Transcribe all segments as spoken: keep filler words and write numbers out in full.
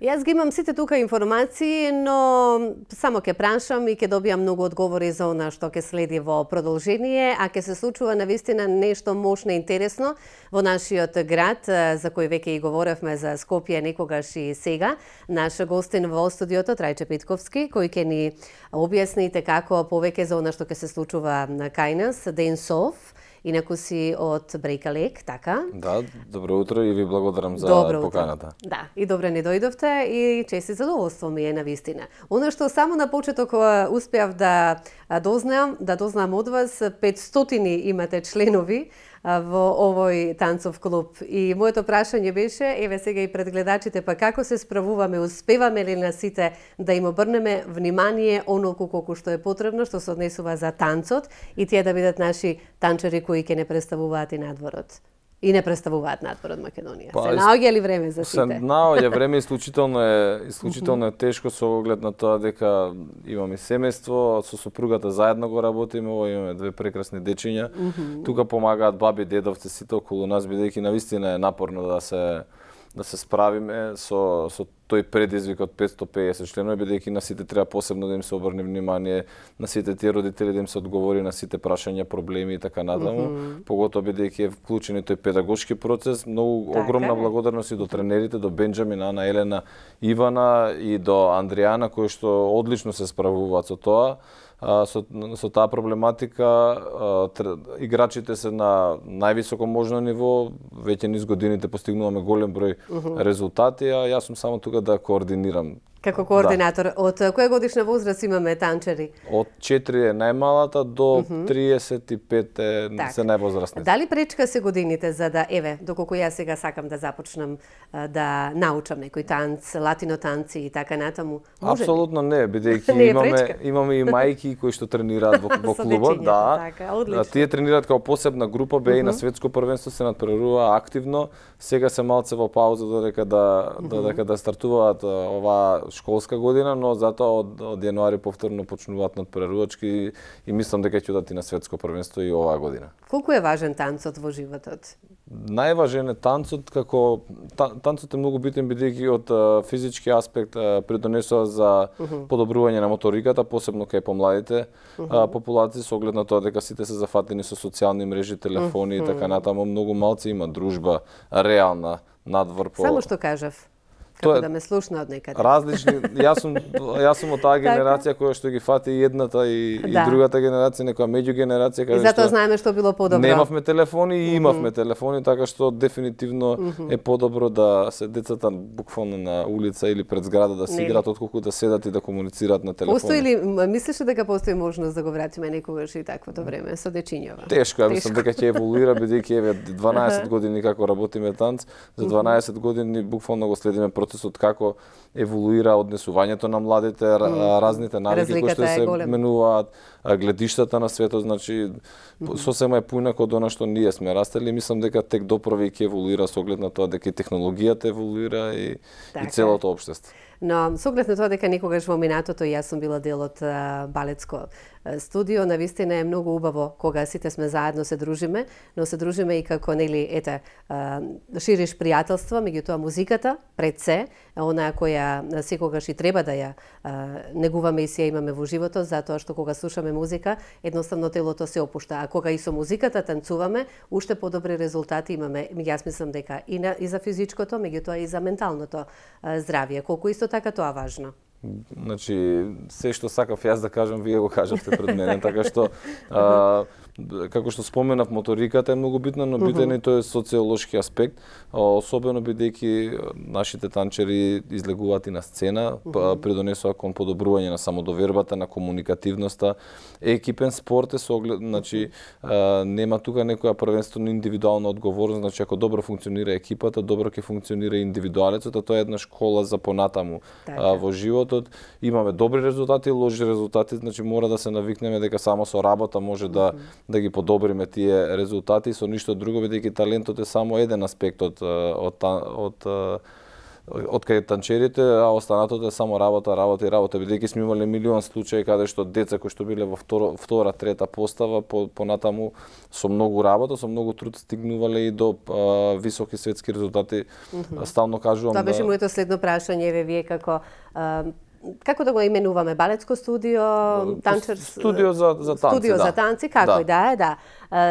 Јас ги имам сите тука информации, но само ќе прашам и ќе добијам многу одговори за она што ќе следи во продолжение, а ќе се случува навистина нешто мощно и интересно во нашиот град, за кој веќе и говоревме за Скопје некогаш и сега. Наш гостин во студиото Трајче Питковски, кој ќе ни објасните како повеќе за она што ќе се случува на кај нас, Денсов. Инаку си од Брејкалек, така? Да, добро утро и ви благодарам за добро поканата. Утро. Да, и добре ни дојдовте и чест и задоволство ми е навистина. Оно што само на почеток успеав да дознам, да дознам од вас, петстотини имате членови во овој танцов клуб. И моето прашање беше, еве сега и пред гледачите, па како се справуваме, успеваме ли на сите да им обрнеме внимание онолку колку што е потребно, што се однесува за танцот и тие да бидат наши танчари кои ќе не представуваат и надворот? И не представуваат надвор од Македонија. Па, се наоѓа ли време за сите? Се наоѓа време, исклучително е исклучително е тешко со оглед на тоа дека имаме семејство, со сопругата заедно го работиме, имаме две прекрасни дечиња. Mm -hmm. Тука помагаат баби, дедовци, сите околу нас, бидејќи навистина е напорно да се да се справиме со со тој предизвик од петстотини и педесет членови, бидејќи на сите треба посебно да им се обрне внимание, на сите тие родители да им се одговори на сите прашања, проблеми и така натаму, mm -hmm. поготоа бидејќи е вклучен и тој педагошки процес. Многу така огромна е. Благодарност и до тренерите, до Бенџамин, Ана, Елена, Ивана и до Андријана, кои што одлично се справуваат со тоа. Со, со таа проблематика играчите се на највисоко можно ниво, веќе низ годините постигнуваме голем број uh -huh. резултати, а јас сум само тука да координирам. Како координатор, да. Од која годишна возраст имаме танчари? Од четири е најмалата до uh -huh. триесет и пет е так. Се највозрастни. Дали пречка се годините за да, еве, доколку јас сега сакам да започнам да научам некој танц, латино танци и така натаму? Апсолутно не, бидејќи имаме имаме и мајки кои што тренираат во, во клубот, да. Така, тие тренираат како посебна група, бе uh -huh. и на светско првенство се надпреварува активно. Сега се малце во пауза додека да uh -huh. додека да стартуваат оваа школска година, но затоа од, од јануари повторно почнуваат надпреварувачки и мислам дека ќе одат и на светско првенство и оваа година. Колку е важен танцот во животот? Најважен е танцот, како танцот е многу битен бидејќи од uh, физички аспект uh, придонесува за uh -huh. подобрување на моториката, посебно кај помладите uh -huh. uh, популации, со оглед на тоа дека сите се зафатени со социјални мрежи, телефони uh -huh. и така натаму. Многу малци има дружба реална надвор по. Само што кажав. Како да ме слушна од некаде. Различни, јас сум јас сум од таа генерација која што ги фати и едната и, да. и другата генерација, некоја меѓугенерација каде што. И затоа знаеме што било подобро. Немавме телефони и имавме mm -hmm. телефони, така што дефинитивно mm -hmm. е подобро да се децата буквално на улица или пред зграда да си играат отколку да седат и да комуницираат на телефони. Постои ли, мислиш дека постои можност да го вратиме некогаш и таквото време со дечињава? Тешко, ја мислам дека ќе еволуира бидејќи еве дванаесет години како работиме танц, за дванаесет години буквално го следиме процесот како еволуира однесувањето на младите, mm. разните навики кои што се менуваат, гледиштата на светот, значи mm -hmm. сосема е поинако од она што ние сме растели, мислам дека тек доправи ќе еволуира со оглед на тоа дека и технологијата еволуира и, и целото општество. Но со оглед на тоа дека некогаш во минатото јас сум била дел од балетско студио, навистина е многу убаво кога сите сме заедно се дружиме, но се дружиме и како нели ете шириш пријателства, меѓутоа музиката пред се, онаа која секогаш и треба да ја негуваме и си ја имаме во животот, затоа што кога слушаме музика, едноставно телото се опушта, а кога и со музиката танцуваме, уште подобри резултати имаме. Јас мислам дека и, на, и за физичкото, меѓутоа и за менталното здравје, колку исто така тоа важно. Значи, се што сакав јас да кажам, вие го кажавте пред мене, така што а, како што споменав, моториката е многу битна, но битен е тој социолошки аспект, особено бидејќи нашите танчери излегуваат и на сцена, придонесува кон подобрување на самодовербата, на комуникативноста. Екипен спорт е со оглед, значи нема тука некоја првенствено индивидуална одговорност, значи ако добро функционира екипата, добро ќе функционира индивидуалецот, а тоа е една школа за понатаму а, во животот. Имаме добри резултати и лоши резултати, значи мора да се навикнеме дека само со работа може да да ги подобриме тие резултати, со ништо друго, бидејќи талентот е само еден аспект од од од откај танчерите, а останатото е само работа, работа и работа, бидејќи сме имале милион случаи каде што деца кои што биле во втора, втора трета постава по понатаму со многу работа, со многу труд стигнувале и до а, високи светски резултати. Mm-hmm. Стално кажувам. Тоа беше да... моето следно прашање, еве вие како а, како да го именуваме, балетско студио, танчер студио за за танци, студио да. за танци, како да. и да е, да.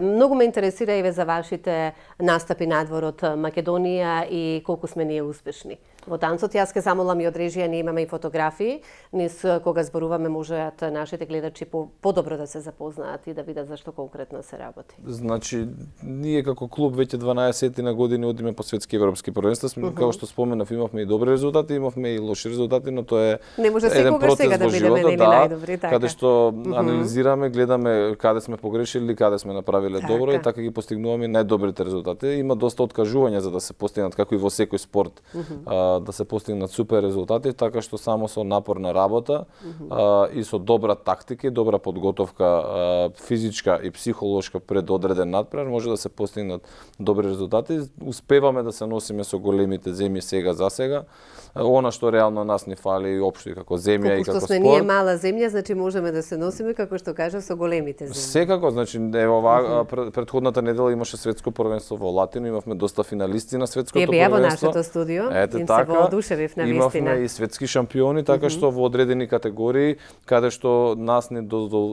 Многу ме интересира еве за вашите настапи надвор од Македонија и колку сме ние успешни во танцот. Јас ке замолам и од режија, ние имаме и фотографии, низ кога зборуваме можат нашите гледачи по подобро да се запознаат и да видат зашто конкретно се работи. Значи, ние како клуб веќе дванаесет на години одиме по светски европски првенства. Uh -huh. Како што споменав, имавме и добри резултати, имавме и лоши резултати, но тоа е не може еден секогаш сега да бидеме нели да, најдобри, така. Каде што uh -huh. анализираме, гледаме каде сме погрешили, каде сме направиле така. Добро и така ги постигнуваме најдобрите резултати. Има доста откажувања за да се постигнат, како и во секој спорт, uh -huh. а, да се постигнат супер резултати, така што само со напорна работа uh -huh. а, и со добра тактика и добра подготовка, а, физичка и психолошка пред одреден надпревар може да се постигнат добри резултати. Успеваме да се носиме со големите земји сега за сега. Она што реално нас ни фали и општо и како земја колку и како што сме спорт. ние мала земја, значи можеме да се носиме како што кажав со големите земји. Секако, значи ево ова uh -huh. претходната недела имаше светско првенство во Латино, имавме доста финалисти на светското првенство. Ја беа во нашето студио, ете, им така, се воодушевив на вистина. Имавме и светски шампиони, така uh -huh. што во одредени категории каде што нас не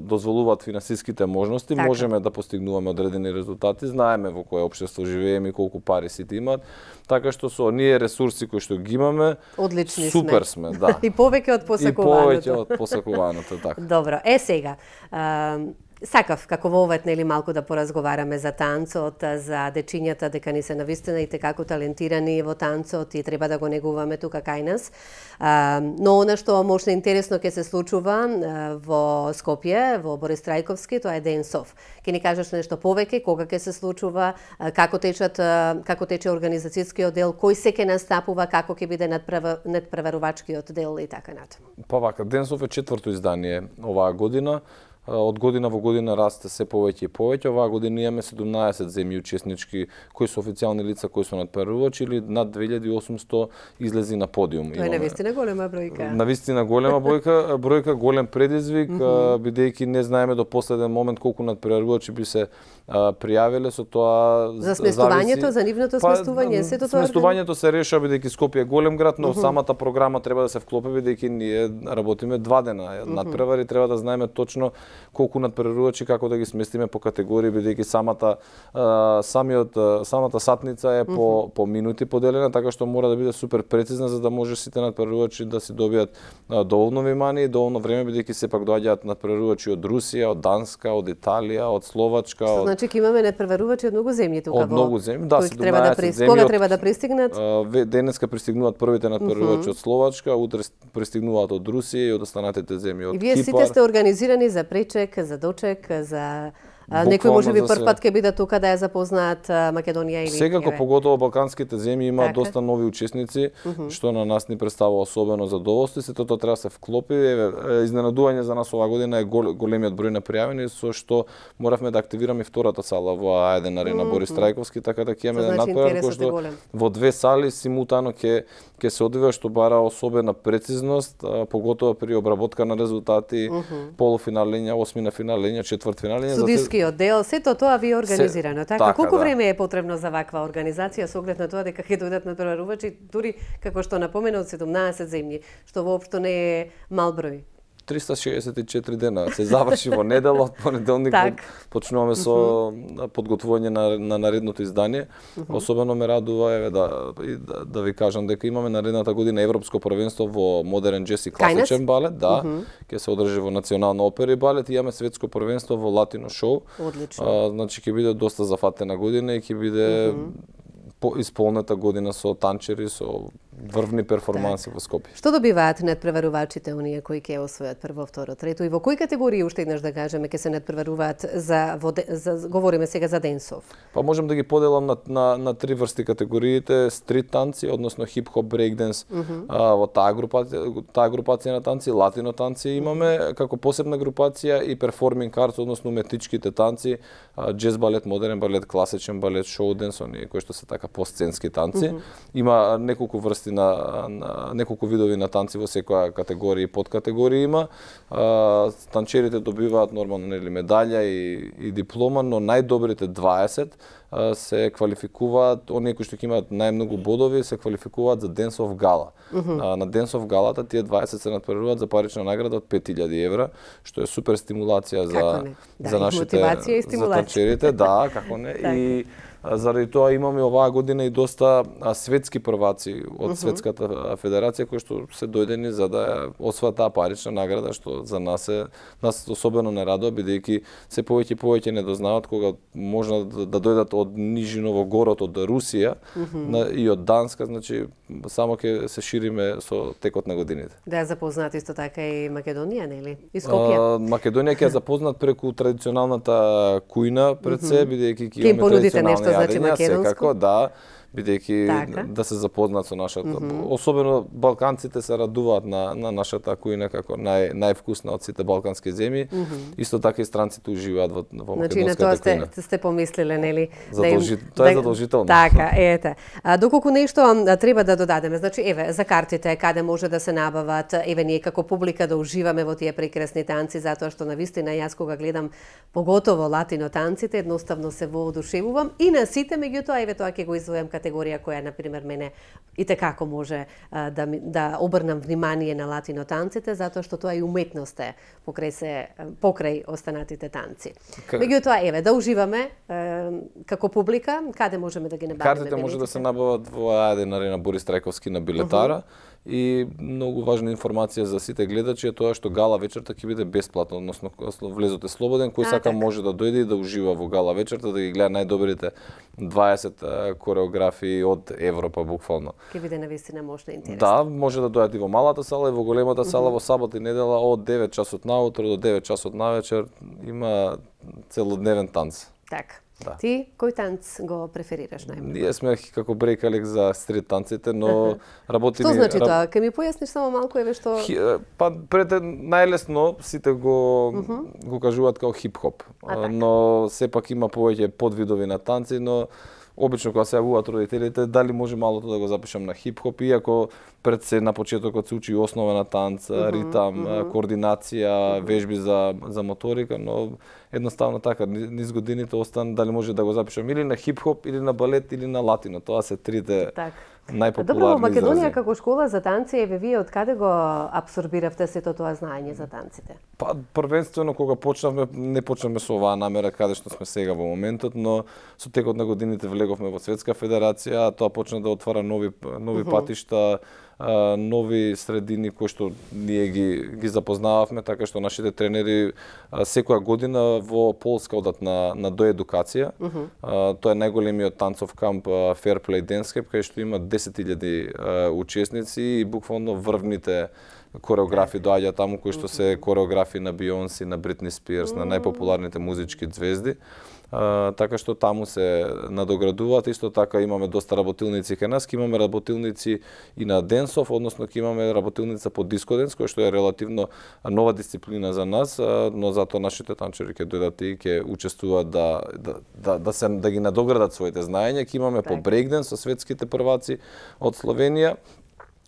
дозволуваат финансиските можности, така. Можеме да постигнуваме одредени резултати, знаеме во кое општество живееме и колку пари сите имаат, така што со оние ресурси кои што ги имаме, одлични супер сме, сме да. И повеќе од посакуваното. И повеќе од посакуваното, така. Добро, е сега, а, сакав како во овет нели малку да поразговараме за танцот, за дечињата дека ни се навистина и како талентирани во танцот и треба да го негуваме тука кај нас. А, но она што може интересно ќе се случува а, во Скопје, во Борис Трајковски, тоа е Денсов. Ќе ни кажеш нешто повеќе, кога ќе се случува, а, како течат а, како тече организацијскиот дел, кој се ќе настапува, како ќе биде надпреварувачкиот дел и така натаму. Па вака, Денсов е четврто издание оваа година. Од година во година расте се повеќе и повеќе. Оваа година имаме седумнаесет земји учеснички кои се официјални лица кои се надпреварувачи или над две илјади и осумсто излези на подиум. Тоа е навистина голема бројка. Навистина голема бројка, бројка голем предизвик, mm -hmm. бидејќи не знаеме до последен момент колку надпреварувачи би се а, пријавиле, со тоа за сместувањето, зависи... за нивното сместување, па, сето тоа. Сместувањето се реша бидејќи Скопје е голем град, но mm -hmm. самата програма треба да се вклопи бидејќи ние работиме два дена. Mm -hmm. Надпревари треба да знаеме точно колку надпреварувачи, како да ги сместиме по категории, бидејќи самата а, самиот самата сатница е по mm -hmm. по минути поделена, така што мора да биде супер прецизна за да може сите надпреварувачи да си добијат а, доволно внимание и доволно време, бидејќи сепак доаѓаат надпреварувачи од Русија, од Данска, од Италија, од Словачка. Што од... значи ќе имаме надпреварувачи од многу земји тука во. Од многу земји, да, се треба да прис... Кога треба да пристигнат? А, денеска пристигнуваат првите надпреварувачи mm -hmm. од Словачка, утре пристигнуваат од Русија и од останатите земји од Кипар. И вие сите сте организирани за пречек, за дочек, за а, некој може би прв пат ќе биде тука да ја запознаат Македонија или секако еве. Поготово балканските земји има така. Доста нови учесници, uh -huh. што на нас ни представува особено задоволство и сето тоа треба да се вклопи. Еве, изненадување за нас оваа година е гол, големиот број на пријавени, со што моравме да активираме и втората сала во А еден арена uh -huh. Борис Трајковски, така да ќе имаме значи, надпревар кој што во две сали симултано ќе ќе се одвива, што бара особена прецизност, а, поготово при обработка на резултати, uh -huh. полуфиналења, осмина финалења, четвртфиналења. Судискиот дел, сето тоа ви е организирано, се... така? така? Колку да. време е потребно за ваква организација со оглед на тоа дека ќе дојдат надпреварувачи, дури како што напомена од седумнаесет земји, што воопшто не е мал број? триста шеесет и четири дена се заврши во недела, од понеделник так. почнуваме со uh -huh. подготвување на, на наредното издание. Uh -huh. Особено ме радува еве да, да да ви кажам дека имаме наредната година европско првенство во модерен джез и класичен балет, да, uh -huh. ќе се одржи во Национална опера и балет и имаме светско првенство во латино шоу. Одлично. А, значи ќе биде доста зафатена година и ќе биде uh -huh. по исполнета година со танчери, со врвни перформанси так. Во Скопје. Што добиваат надпреварувачите оние кои ќе освојат прво, второ, трето и во кои категории уште еднаш да кажеме ќе се надпреваруваат за, во, за говориме сега за Денсов? Па можам да ги поделам на на, на три врсти категориите: стрит танци, односно хип-хоп, брейкденс, mm -hmm. а, во таа групација, таа групација на танци, латино танци имаме како посебна групација и перформинг артс, односно уметничките танци, џез балет, модерен балет, класичен балет, шоу денс, оние кои што се така посценски танци. Mm -hmm. Има неколку врсти на, на неколку видови на танци во секоја категорија и подкатегорија има. А, танчерите добиваат нормално нели медаља и, и диплома, но најдобрите дваесет а, се квалификуваат, оние кои што ќе имаат најмногу бодови се квалификуваат за Dance of Gala. Mm -hmm. а, на Dance of Gala тие дваесет се натпреваруваат за парична награда од пет илјади евра, што е супер стимулација за да, за нашите мотивација и за танчерите, да, како не. И заради тоа имаме оваа година и доста светски прваци од uh -huh. Светската федерација кои што се дојдени за да освојат таа парична награда, што за нас е нас особено не радува, бидејќи се повеќе и повеќе не дознаваат кога можна да, да дојдат од Нижиново город од Русија uh -huh. на, и од Данска, значи само ќе се шириме со текот на годините. Да ја запознат исто така и Македонија, нели? И Скопје. Македонија ќе ја запознат преку традиционалната кујна пред се, uh -huh. бидејќи ќе имаме традиционални значи македонско? Секако, да, бидејќи така. да се запознат со нашата. Mm -hmm. Особено балканците се радуваат на, на нашата кујна како нај, највкусна од сите балкански земји. Mm -hmm. Исто така и странците уживаат во, во значи, македонската кујна. Значи на тоа сте, сте помислиле, нели? Задолжи... Да им, тоа е задолжително. Така, ете. А, доколку нешто а, треба да додадеме, значи еве за картите каде може да се набават, еве ние како публика да уживаме во тие прекрасни танци, затоа што навистина јас кога гледам поготово латино танците, едноставно се воодушевувам и на сите, меѓутоа еве тоа ќе го издвојам категорија која на пример мене и tekako може а, да да обрнам внимание на латино танците, затоа што тоа и уметност е покрај се покрај останатите танци. К... Меѓутоа еве да уживаме е, како публика, каде можеме да ги набавиме? Картите може да се набават во Ајден арена Борис Трајковски на билетара. Uh -huh. И многу важна информација за сите гледачи е тоа што гала вечерта ќе биде бесплатно, односно влезот е слободен, кој а, сака так. може да дојде и да ужива во гала вечерта, да ги гледа најдобрите дваесет кореографии од Европа буквално. Ќе биде навистина мощна и интересна. Да, може да дојдат и во малата сала и во големата сала, uh -huh. во сабота и недела од девет часот наутро до девет часот навечер има целодневен танц. Така. Да. Ти кој танц го преферираш најмногу? Ние сме како брейкалек за стрит танците, но работиме... Што значи тоа? Ке ми појасниш само малку еве што... Хи, па пред најлесно сите го uh -huh. го кажуваат како хип-хоп, но сепак има повеќе подвидови на танци, но обично кога се јавуваат родителите, дали може малото да го запишам на хип-хоп, иако пред се на почетокот се учи основа на танц, uh -huh, ритам, uh -huh. координација, uh -huh. вежби за за моторика, но едноставно така низ годините остан дали може да го запишам или на хип-хоп или на балет или на латино. Тоа се трите так. најпопуларни Добро, во Македонија како школа за танци, еве вие од каде го апсорбиравте сето тоа знаење за танците? Па првенствено кога почнавме, не почнавме со оваа намера каде што сме сега во моментот, но со текот на годините влеговме во Светска федерација, тоа почна да отвара нови нови uh -huh. патишта, нови средини кои што ние ги ги запознававме, така што нашите тренери секоја година во Полска одат на на доедукација. Uh -huh. Тоа е најголемиот танцов камп Fair Play Dance Camp, кај што има десет илјади учесници и буквално врвните кореографи доаѓаат таму кои што се кореографи на Бионси, на Бритни Спирс, на најпопуларните музички звезди. Uh, така што таму се надоградуваат. Исто така имаме доста работилници кај нас, имаме работилници и на денсов, односно ќе имаме работилница по диско денс, која што е релативно нова дисциплина за нас, uh, но затоа нашите танчери ќе дојдат и ќе учествуваат да да да да се да ги надоградат своите знаења. Ќе имаме по брейкденс со светските прваци од Словенија.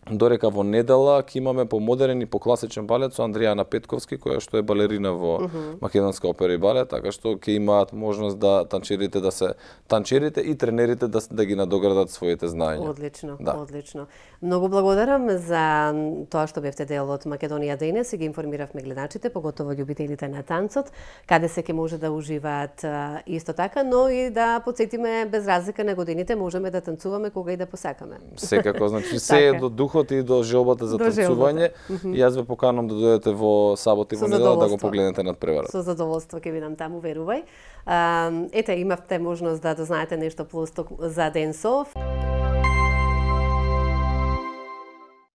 Дорека во недела ќе имаме по модерен и по класичен балет со Андријана Петковски, која што е балерина во uh -huh. Македонска опера и балет, така што ќе имаат можност да танчерите да се танчерите и тренерите да да ги надоградат своите знаења. Одлично, да. Одлично. Многу благодарам за тоа што бевте дел од Македонија денес и ги информиравме гледачите, поготово љубителите на танцот, каде се ќе може да уживаат исто така, но и да потсетиме без разлика на годините можеме да танцуваме кога и да посакаме. Секако, значи се е до дух и до желбата за танцување. И јас ве поканувам да дојдете во сабота и во недела да го погледнете надпреварот. Со задоволство ќе бидам таму, верувај. Ете, имавте можност да дознаете нешто плюс за денсов.